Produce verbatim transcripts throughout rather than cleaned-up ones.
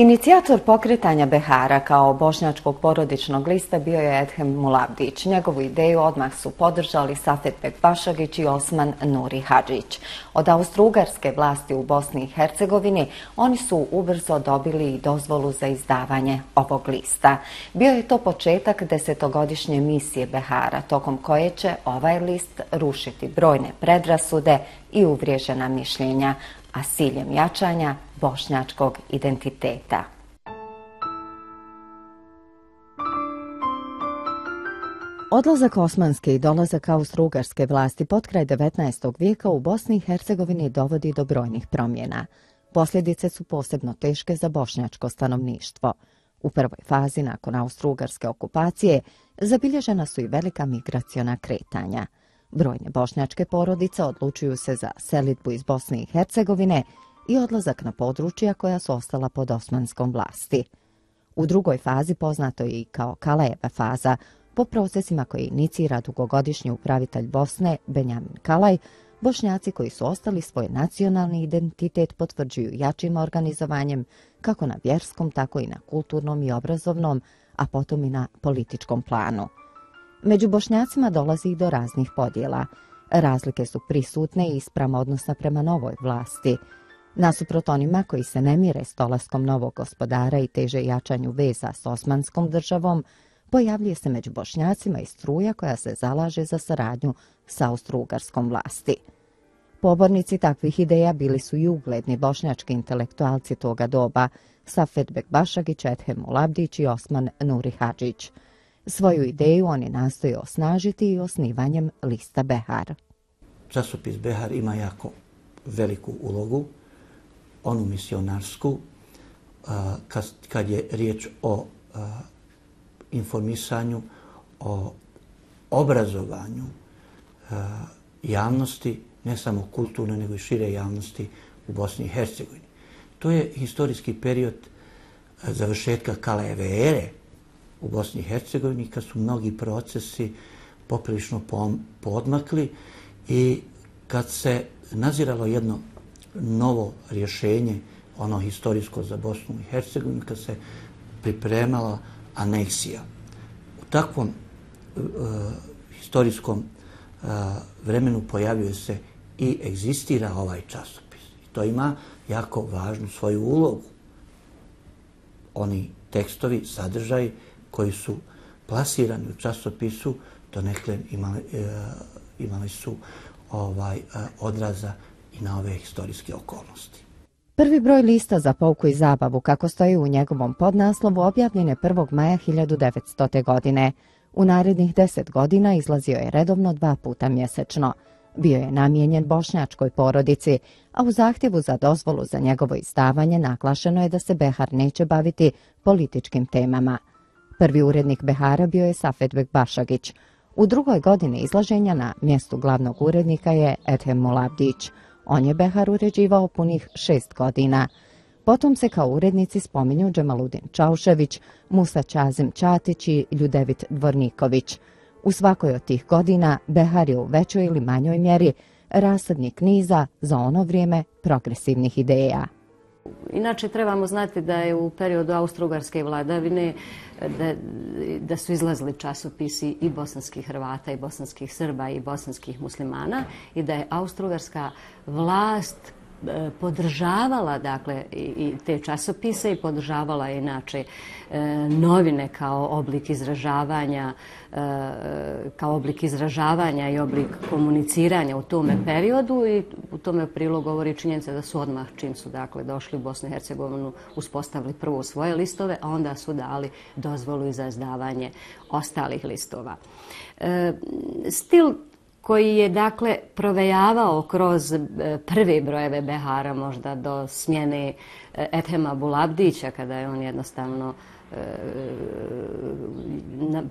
Inicijator pokretanja Behara kao bošnjačkog porodičnog lista bio je Edhem Mulavdić. Njegovu ideju odmah su podržali Safet Bekbašagić i Osman Nuri Hadžić. Od austrougarske vlasti u Bosni i Hercegovini oni su ubrzo dobili i dozvolu za izdavanje ovog lista. Bio je to početak desetogodišnje misije Behara, tokom koje će ovaj list rušiti brojne predrasude i uvriježena mišljenja, a s ciljem jačanja bošnjačkog identiteta. Odlazak osmanske i dolazak austrougarske vlasti potkraj devetnaestog vijeka u Bosni i Hercegovini dovodi do brojnih promjena. Posljedice su posebno teške za bošnjačko stanovništvo. U prvoj fazi nakon austrougarske okupacije zabilježena su i velika migraciona kretanja. Brojne bošnjačke porodice odlučuju se za selidbu iz Bosne i Hercegovine i odlazak na područja koja su ostala pod osmanskom vlasti. U drugoj fazi, poznato je i kao Kalajeva faza, po procesima koje inicira dugogodišnji upravitelj Bosne Benjamin Kalaj, Bošnjaci koji su ostali svoj nacionalni identitet potvrđuju jačim organizovanjem kako na vjerskom, tako i na kulturnom i obrazovnom, a potom i na političkom planu. Među Bošnjacima dolazi i do raznih podjela. Razlike su prisutne i isprama odnosa prema novoj vlasti. Nasuprot onima koji se ne mire s dolaskom novog gospodara i teže jačanju veza s osmanskom državom, pojavljuje se među Bošnjacima i struja koja se zalaže za saradnju s austrougarskom vlasti. Pobornici takvih ideja bili su i ugledni bošnjački intelektualci toga doba, Safet Bekbašagić, Edhem Mulavdić i Osman Nuri Hadžić. Svoju ideju oni nastoje osnažiti i osnivanjem lista Behar. Časopis Behar ima jako veliku ulogu, onu misionarsku, kad je riječ o informisanju, o obrazovanju javnosti, ne samo kulturne, nego i šire javnosti u Bosni i Hercegovini. To je historijski period završetka Kalajeve ere u Bosni i Hercegovini, kad su mnogi procesi poprilično poodmakli i kad se naziralo jedno novo rješenje, ono historijsko za Bosnu i Hercegovinu, kad se pripremala aneksija. U takvom uh, historijskom uh, vremenu pojavljuje se i egzistira ovaj časopis. I to ima jako važnu svoju ulogu. Oni tekstovi, sadržaji koji su plasirani u časopisu, donekle imali, uh, imali su ovaj, uh, odraza i na ove historijske okolnosti. Prvi broj lista za pouku i zabavu, kako stoji u njegovom podnaslovu, objavljen je prvog maja hiljadu devetstote. godine. U narednih deset godina izlazio je redovno dva puta mjesečno. Bio je namijenjen bošnjačkoj porodici, a u zahtjevu za dozvolu za njegovo izdavanje naglašeno je da se Behar neće baviti političkim temama. Prvi urednik Behara bio je Safet Bekbašagić. U drugoj godini izlaženja na mjestu glavnog urednika je Edhem Mulavdić. On je Behar uređivao punih šest godina. Potom se kao urednici spominju Džemaludin Čaušević, Musa Čazim Čatić i Ljudevit Dvorniković. U svakoj od tih godina Behar je u većoj ili manjoj mjeri rasadnik niza za ono vrijeme progresivnih ideja. Inače, trebamo znati da je u periodu austrougarske vladavine da, da su izlazili časopisi i bosanskih Hrvata, i bosanskih Srba, i bosanskih muslimana i da je austrougarska vlast podržavala dakle i te časopise i podržavala je inače novine kao oblik izražavanja kao oblik izražavanja i oblik komuniciranja u tome periodu i u tome prilog govori činjenica da su odmah čim su dakle došli u Bosnu i Hercegovinu uspostavili prvo svoje listove, a onda su dali dozvolu i za izdavanje ostalih listova. Stil koji je dakle provejavao kroz prve brojeve Behara možda do smjene Edhema Mulavdića, kada je on jednostavno e,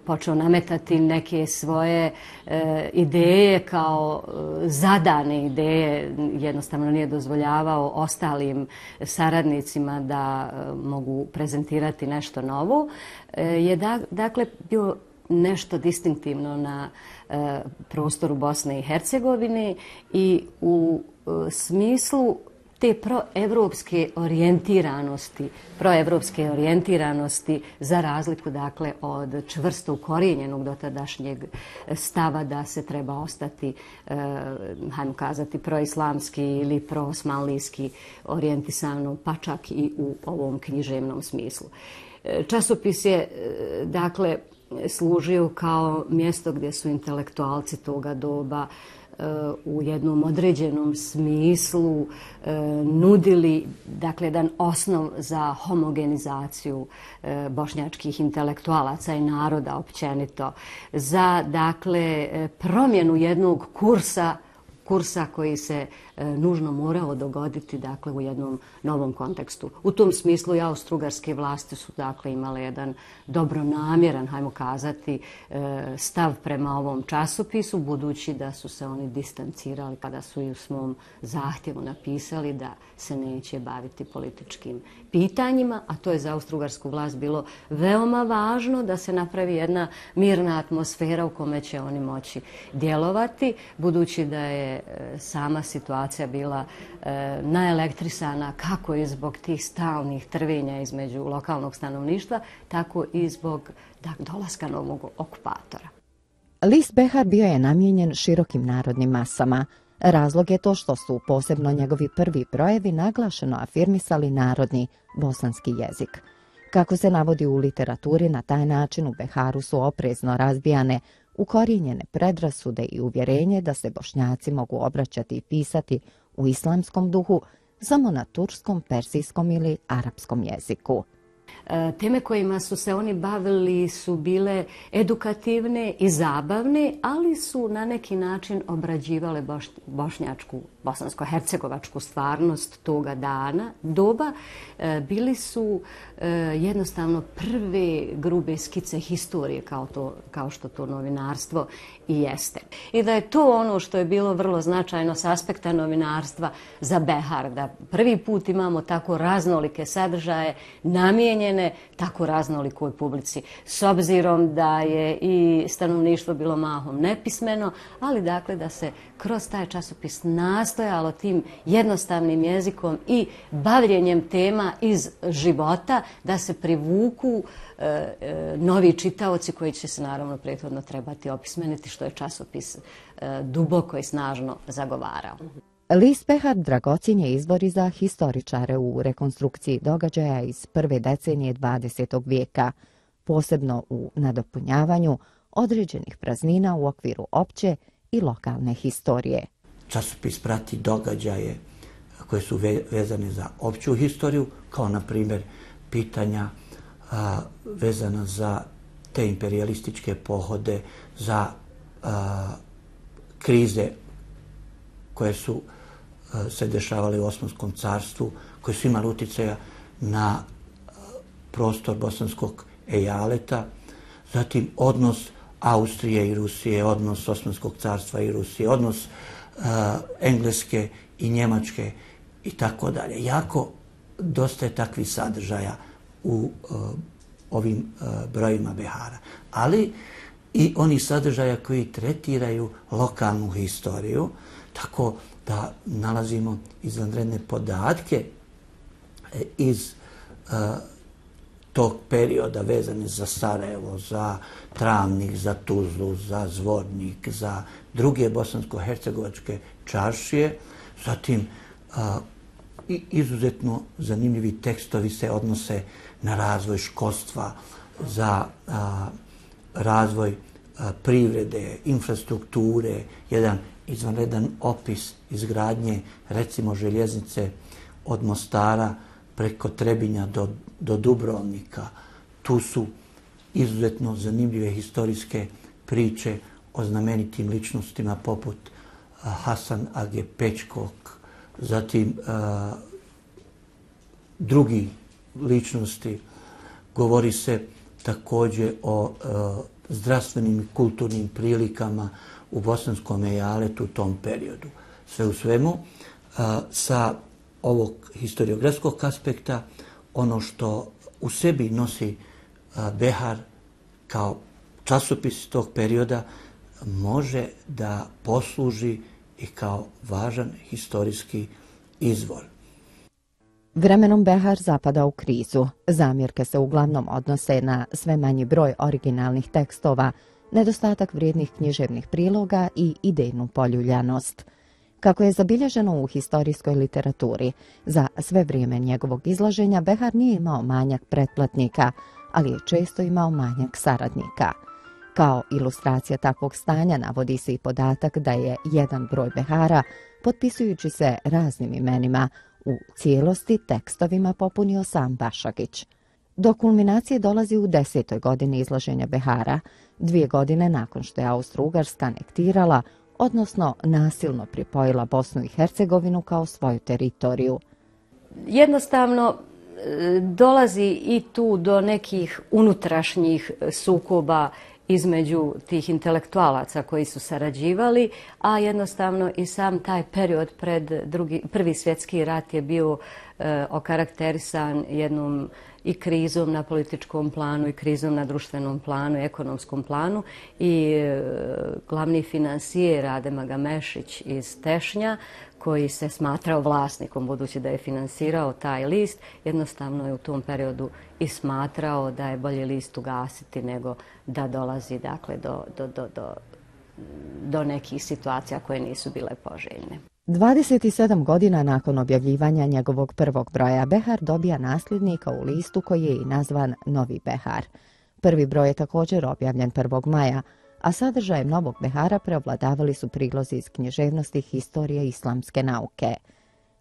počeo nametati neke svoje e, ideje kao zadane ideje, jednostavno nije dozvoljavao ostalim saradnicima da mogu prezentirati nešto novo, e, je da, dakle bio nešto distinktivno na e, prostoru Bosne i Hercegovine i u e, smislu te proevropske orijentiranosti, proevropske orijentiranosti za razliku dakle od čvrsto ukorijenjenog dotadašnjeg stava da se treba ostati, e, hajmo kazati, proislamski ili proosmanlijski orijentisano, pa čak i u ovom književnom smislu. Časopis je, dakle, služio kao mjesto gdje su intelektualci toga doba u jednom određenom smislu nudili, dakle, jedan osnov za homogenizaciju bošnjačkih intelektualaca i naroda općenito, za, dakle, promjenu jednog kursa kursa koji se e, nužno morao dogoditi, dakle, u jednom novom kontekstu. U tom smislu i austrougarske vlasti su, dakle, imale jedan dobronamjeran, hajmo kazati, e, stav prema ovom časopisu, budući da su se oni distancirali kada su i u svom zahtjevu napisali da se neće baviti političkim pitanjima, a to je za austrougarsku vlast bilo veoma važno da se napravi jedna mirna atmosfera u kome će oni moći djelovati, budući da je sama situacija bila e, naelektrisana kako i zbog tih stalnih trvenja između lokalnog stanovništva, tako i zbog da, dolaska novog okupatora. List Behar bio je namijenjen širokim narodnim masama. Razlog je to što su posebno njegovi prvi brojevi naglašeno afirmisali narodni bosanski jezik. Kako se navodi u literaturi, na taj način u Beharu su oprezno razbijane ukorijenjene predrasude i uvjerenje da se Bošnjaci mogu obraćati i pisati u islamskom duhu samo na turskom, persijskom ili arapskom jeziku. Teme kojima su se oni bavili su bile edukativne i zabavne, ali su na neki način obrađivale bošnjačku, bosansko-hercegovačku stvarnost toga dana, doba. Bili su jednostavno prve grube skice historije kao, to, kao što to novinarstvo i jeste. I da je to ono što je bilo vrlo značajno s aspekta novinarstva za Behar, da prvi put imamo tako raznolike sadržaje namijenjene tako raznolikoj publici, s obzirom da je i stanovništvo bilo mahom nepismeno, ali dakle da se kroz taj časopis nastojalo tim jednostavnim jezikom i bavljenjem tema iz života da se privuku e, e, novi čitaoci koji će se naravno prethodno trebati opismeniti, što je časopis e, duboko i snažno zagovarao. List Behar dragocjen je izvor i za historičare u rekonstrukciji događaja iz prve decenije dvadesetog vijeka, posebno u nadopunjavanju određenih praznina u okviru opće i lokalne historije. Časopis prati događaje koje su vezane za opću historiju, kao na primjer pitanja a, vezana za te imperialističke pohode, za a, krize koje su se dešavali u Osmanskom carstvu, koje su imali utjecaja na prostor bosanskog ejaleta, zatim odnos Austrije i Rusije, odnos Osmanskog carstva i Rusije, odnos uh, Engleske i Njemačke i tako dalje. Jako dosta je takvih sadržaja u uh, ovim uh, brojima Behara. Ali i oni sadržaja koji tretiraju lokalnu historiju, tako da nalazimo izvanredne podatke iz uh, tog perioda vezane za Sarajevo, za Travnik, za Tuzlu, za Zvornik, za druge bosansko-hercegovačke čaršije. Zatim, uh, izuzetno zanimljivi tekstovi se odnose na razvoj školstva, za uh, razvoj uh, privrede, infrastrukture, jedan izvanredan opis izgradnje, recimo, željeznice od Mostara preko Trebinja do, do Dubrovnika. Tu su izuzetno zanimljive historijske priče o znamenitim ličnostima poput uh, Hasan Age Pečkog, zatim uh, drugi ličnosti. Govori se također o uh, zdravstvenim i kulturnim prilikama u bosanskom ejaletu u tom periodu. Sve u svemu, a, sa ovog historiografskog aspekta, ono što u sebi nosi a, Behar kao časopis tog perioda može da posluži i kao važan historijski izvor. Vremenom Behar zapada u krizu. Zamjerke se uglavnom odnose na sve manji broj originalnih tekstova, nedostatak vrijednih književnih priloga i idejnu poljuljanost. Kako je zabilježeno u historijskoj literaturi, za sve vrijeme njegovog izlaženja Behar nije imao manjak pretplatnika, ali je često imao manjak saradnika. Kao ilustracija takvog stanja navodi se i podatak da je jedan broj Behara, potpisujući se raznim imenima, u cijelosti tekstovima popunio sam Bašagić. Do kulminacije dolazi u desetoj godini izlaženja Behara, dvije godine nakon što je Austro-Ugarska anektirala, odnosno nasilno pripojila Bosnu i Hercegovinu kao svoju teritoriju. Jednostavno dolazi i tu do nekih unutrašnjih sukoba između tih intelektualaca koji su sarađivali, a jednostavno i sam taj period pred drugi, prvi svjetski rat je bio e, okarakterisan jednom i krizom na političkom planu i krizom na društvenom planu i ekonomskom planu i e, glavni finansijer Adem Agamešić iz Tešnja, koji se smatrao vlasnikom, budući da je finansirao taj list, jednostavno je u tom periodu i smatrao da je bolje list ugasiti nego da dolazi dakle, do, do, do, do, do nekih situacija koje nisu bile poželjne. dvadeset sedam godina nakon objavljivanja njegovog prvog broja, Behar dobija nasljednika u listu koji je i nazvan Novi Behar. Prvi broj je također objavljen prvog maja, a sadržajem novog Behara preovladavali su prilozi iz književnosti, historije i islamske nauke.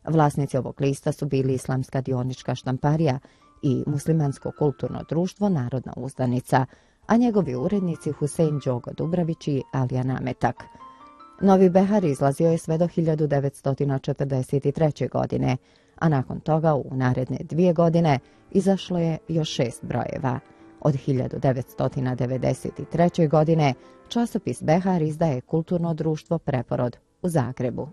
Vlasnici ovog lista su bili Islamska dionička štamparija i Muslimansko kulturno društvo Narodna uzdanica, a njegovi urednici Husein Đogo Dubravić i Alija Nametak. Novi Behar izlazio je sve do hiljadu devetsto četrdeset treće. godine, a nakon toga u naredne dvije godine izašlo je još šest brojeva. Od hiljadu devetsto devedeset treće. godine časopis Behar izdaje Kulturno društvo Preporod u Zagrebu.